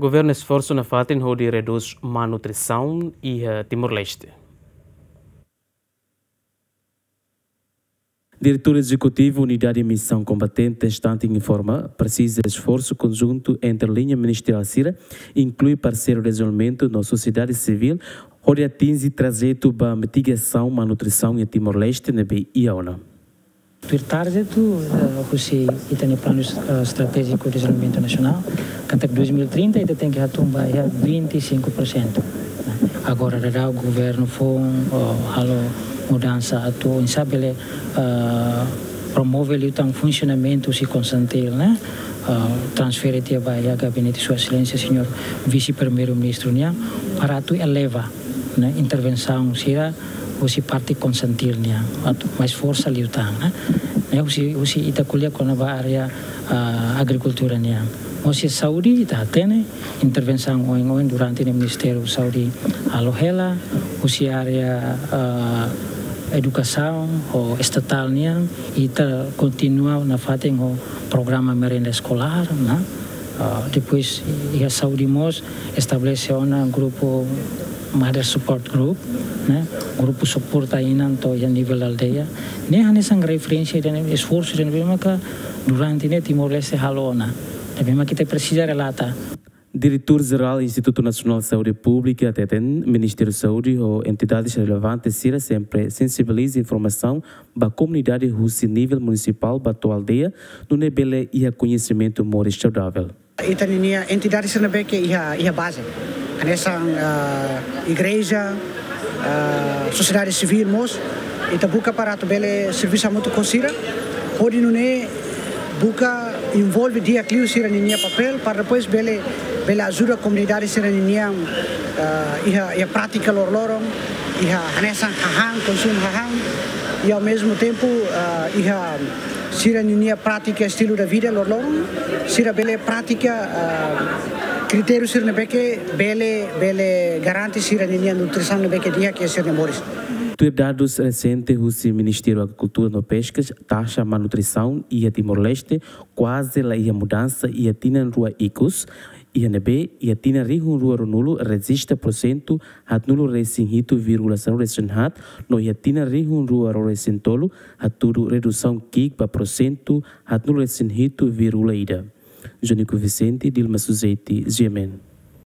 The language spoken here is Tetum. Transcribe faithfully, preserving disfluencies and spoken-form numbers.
Governu esforsu nafatin hodi redús malnutrisaun iha Timor-Leste. Diretór Ezekutivu Unidade Misaun Kombatente, Stunting, informa, presiza esforsu konjuntu entre liña ministeriál sira, inklui parseiru dezenvolvimentu no sosiedade sivíl, hodi atinje trajetu ba mitigasaun malnutrisaun iha Timor-Leste ne'ebé iha ona. Tuir target atu, eh, husi ita-nia planu, eh, estratéjiku dezenvolvimentu nasionál, katak dois mil e trinta ita tenke hatún ba iha vinte e cinco por cento. Agora daudaun governu foun, oh, halo mudansa atu, oinsá bele, eh, promove liután funsionamentu husi Konsantil, ne'e? Eh, transfere tiha ba iha gabinete Sua Exelénsia Señór Vise-Primeiru-Ministru nian, para atu eleva, ne'e, intervensaun sira husi parte Konsantil nian, atu mais forsa liután, ne'e? Ne'e husi, husi ita ko'alia kona-ba área, ah, agrikultura nian. Husi saúde ita hatene intervensaun oioin durante ne'e Ministériu Saúde halo hela, husi área, ah, edukasaun ho estatál nian, ita kontinua nafatin ho programa merenda eskolár, ne'e? Ah, depois iha saúde mós estabelese ona grupu Mother Support Group, ne'e? Grupu suporta inan to'o iha nivel aldeia. Ne'e hanesan referénsia ida-ne'e, esforsu ida-ne'ebé maka durante ne'e Timor-Leste halo ona. Ne'ebé maka ita presiza relata. Diretór Jerál Institutu Nasionál Saúde Públika hateten, Ministériu Saúde ho entidades relevantes sira sempre sensibiliza informasaun ba komunidade husi nivel munisipál ba to'o aldeia, nune'e bele iha koñesimentu moris saudavel. Ita-ninia entidade sira ne'ebé ke iha, iha baze. Hanesan, ah, igreja, ah, sosiedade sivíl mós, ita buka para atu bele servisu hamutuk ho sira, hodi nune'e buka envolve di'ak liu sira-ninia papél, para depois bele, bele ajuda komunidade sira-ninian, ah, iha, iha prátika loroloron, iha hanesan hahán, konsumu hahán, i ao mesmo tempo, ah, iha sira-ninia prátika estilu de vida loroloron, sira bele pratika, ah, kritériu sira ne'ebé ke bele, bele garante sira-ninia nutrisaun ne'ebé ke di'ak iha sira-nia moris. Tuir dadus resente husi Ministériu Agrikultura no Peskas, taxa malnutrisaun iha Timor-Leste kuaze la iha mudansa iha tinan rua ikus, iha ne'ebé iha tinan rihun rua ruanulu rejista porsentu haatnulu resin hitu vírgula sanulu resin haat, no iha tinan rihun rua ruanulu resin tolu hatudu redusaun ki'ik ba porsentu haatnulu resin hitu vírgula ida. Jonico Vicente, Dilma Suzeti, G M N.